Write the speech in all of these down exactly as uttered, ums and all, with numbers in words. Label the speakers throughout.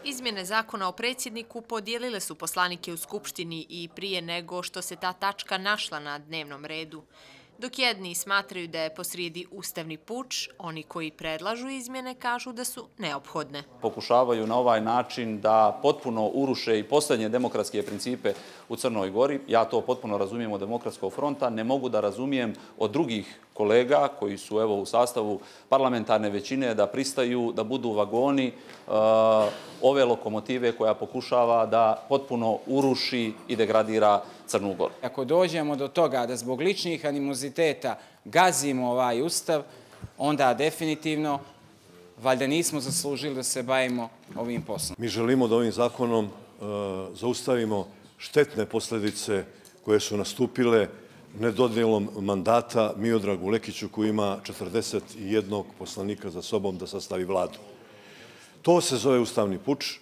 Speaker 1: Izmjene zakona o predsjedniku podijelile su poslanike u Skupštini i prije nego što se ta tačka našla na dnevnom redu. Dok jedni smatraju da je posrijedi ustavni puč, oni koji predlažu izmjene kažu da su neophodne.
Speaker 2: Pokušavaju na ovaj način da potpuno uruše i posljednje demokratske principe u Crnoj Gori. Ja to potpuno razumijem od Demokratskog fronta, ne mogu da razumijem od drugih kolega koji su evo u sastavu parlamentarne većine da pristaju da budu vagoni uh, ove lokomotive koja pokušava da potpuno uruši i degradira Crnu Goru.
Speaker 3: Ako dođemo do toga da zbog ličnih animoziteta gazimo ovaj ustav, onda definitivno valjda nismo zaslužili da se bavimo ovim poslom.
Speaker 4: Mi želimo da ovim zakonom uh, zaustavimo štetne posljedice koje su nastupile nedodjelom mandata Miodragu Lekiću koji ima četrdeset jednog poslanika za sobom da sastavi vladu. To se zove ustavni puč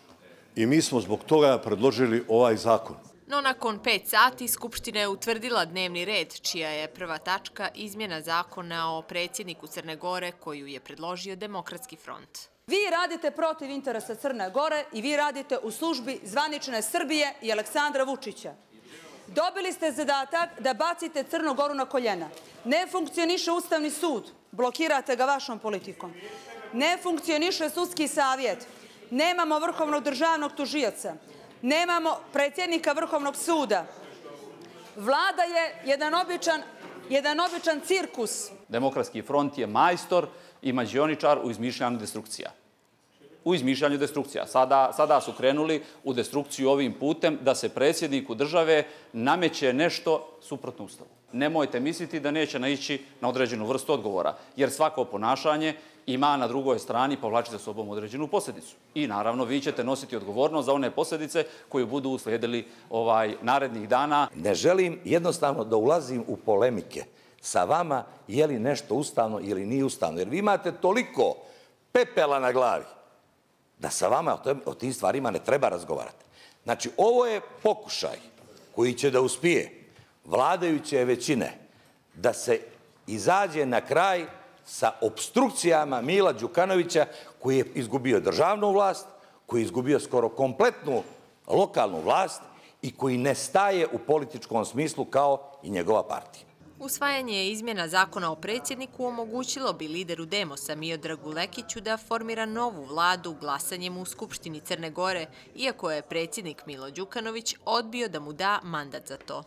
Speaker 4: i mi smo zbog toga predložili ovaj zakon.
Speaker 1: No nakon pet sati Skupština je utvrdila dnevni red, čija je prva tačka izmjena zakona o predsjedniku Crne Gore koju je predložio Demokratski front.
Speaker 5: Vi radite protiv interesa Crne Gore i vi radite u službi zvanične Srbije i Aleksandra Vučića. Dobili ste zadatak da bacite Crnu Goru na koljena. Ne funkcioniše Ustavni sud, blokirate ga vašom politikom. Ne funkcioniše Sudski savjet, nemamo vrhovnog državnog tužioca, nemamo predsjednika Vrhovnog suda. Vlada je jedan običan, jedan običan cirkus.
Speaker 2: Demokratski front je majstor i mađioničar u izmišljanju destrukcija. U izmišljanju destrukcija. Sada, sada su krenuli u destrukciju ovim putem da se predsjedniku države nameće nešto suprotno Ustavu. Nemojte misliti da neće naići na određenu vrstu odgovora, jer svako ponašanje ima na drugoj strani povlači za sobom određenu posljedicu. I naravno vi ćete nositi odgovornost za one posljedice koje budu uslijedili ovaj narednih dana.
Speaker 6: Ne želim jednostavno da ulazim u polemike sa vama je li nešto ustavno ili nije ustavno, jer vi imate toliko pepela na glavi da sa vama o tim stvarima ne treba razgovarati. Znači, ovo je pokušaj koji će da uspije vladajuće većine da se izađe na kraj sa opstrukcijama Mila Đukanovića koji je izgubio državnu vlast, koji je izgubio skoro kompletnu lokalnu vlast i koji ne staje u političkom smislu kao i njegova partija.
Speaker 1: Usvajanje izmjena zakona o predsjedniku omogućilo bi lideru Demosa Miodragu Lekiću da formira novu vladu glasanjem u Skupštini Crne Gore, iako je predsjednik Milo Đukanović odbio da mu da mandat za to.